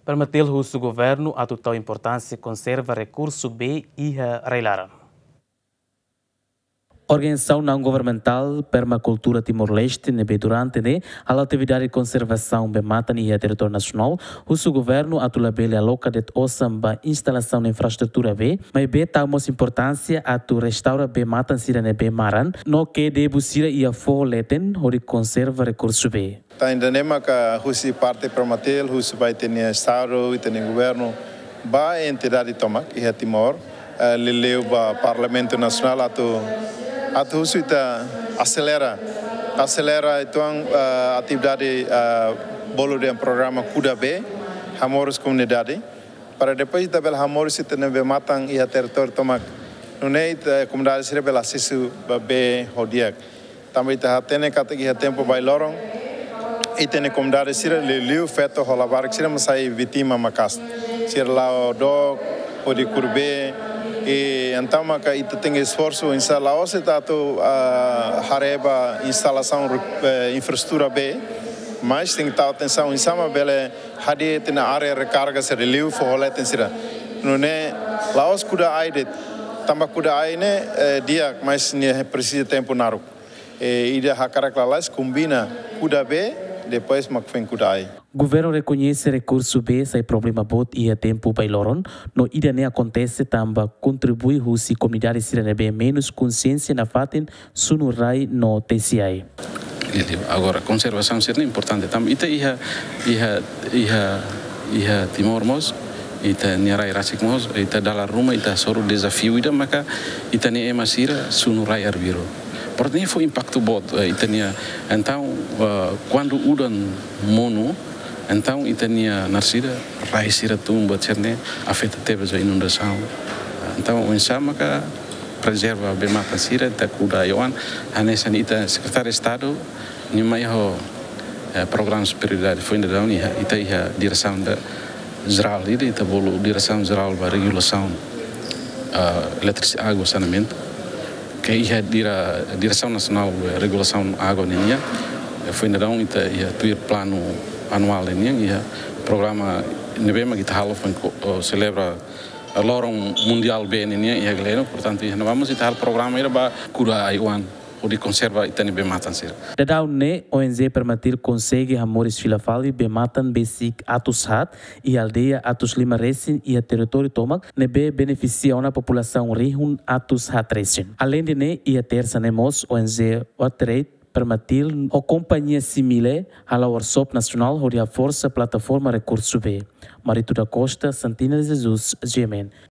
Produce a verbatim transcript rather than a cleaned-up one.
Permatil husu governu atu tau importánsia konserva rekursu bee iha rai-laran. Organizasaun naun-governamentál Permakultura Timor-Leste ne'ebé durante ne'e hala'o atividade konservasaun bee-matan iha territóriu nasionál, husu governu atu labele aloka de'it osan ba instalasaun infraestrutura bee, maibé tau mós importánsia atu restaura bee-matan sira ne'ebé maran, no ke debu sira iha foho leten hodi konserva rekursu bee. Tan ida-ne'e maka husi parte Permatil, husu ba ita-nia Estadu, ita-nia governu, ba entidade tomak iha Timor, eh, liuliu ba Parlamentu Nasionál atu, atu husu ita aselera, aselera uitoan, eh, atividade, eh, bolu dehan programa Kuda Bee, hamoris komunidade, para depois ita bele hamoris ita-nia bee-matan iha territóriu tomak. Nune'e ita komunidade sira bele asesu ba bee ho di'ak. Tanba ita hatene katak iha tempu bailoron, ita-nia komunidade sira liuliu feto ho labarik sira mak sai vítima maka'as. Sira la'o dook hodi kuru bee, i entaun maka ita tenke esforsu, oinsá la'ós ita atu, ah, haree ba instalasaun re-, eh, infraestrutura bee, mas tenke tau atensaun oinsá mak bele hadi'a ita-nia área rekarga sira liu foho leten sira. Nune'e la'ós kuda ai de'it, tanba kuda ai ne'e, eh, di'ak, mas nia presiza tempu naruk. Eh, ida hakarak lalais kombina kuda bee, depois mak foin kuda ai. Governu rekoñese rekursu bee sai problema boot iha tempu bailoron, no ida-ne'e akontese tanba kontribui husi komunidade sira ne'ebé menus konsiénsia nafatin sunu rai no tesi ai. Liuliu. Agora, konservasaun sira-ne'e importante tanba ita iha, iha, iha, iha Timor mós, ita-nia rai rasik mós, ita dala ruma, ita hasoru dezafiu ida maka ita-nia ema sira sunu rai arbiru. Portantu, ne'e fó impaktu boot, eh, ita-nia, entaun, eh, kuandu udan monu, entaun ita-nia naran sira, rai sira tun buat sira-ne'e afeta tebes ba inundasaun. Entaun, oinsá maka prezerva bee-matan sira, ita kuda ai-oan, hanesan ita Sekretáriu Estadu, nia mai ho, eh, programas prioridade foin daudaun iha, ita iha diresaun da jerál, ida ita bolu Diresaun Jerál ba Regulasaun, eh, Eletrisidade, Água, Saneamentu. Ke iha dire-, Diresaun Nasionál Regulasaun Água ninian, eh, foin daudaun ita iha tuir planu anuál ninian, iha programa ne'ebé mak ita halo foin ko-, eh, selebra, eh, loron mundiál bee ninian iha Gleno, portantu iha ne'ebá mós ita halo programa ida ba kuda ai-oan hodi konserva ita-nia bee-matan sira. Daudaun ne'e, O N G Permatil konsege hamoris fila fali bee-matan besik atus haat iha aldeia atus lima resin iha territóriu tomak, ne'ebé benefisia ona populasaun rihun atus haat resin. Aleinde ne'e, iha tersa ne'e mós, O N G Waterate Permatil ho kompañia Simile hala'o workshop nasionál hodi haforsa plataforma rekursu bee. Marito da Costa, Santina Jesus, G M N.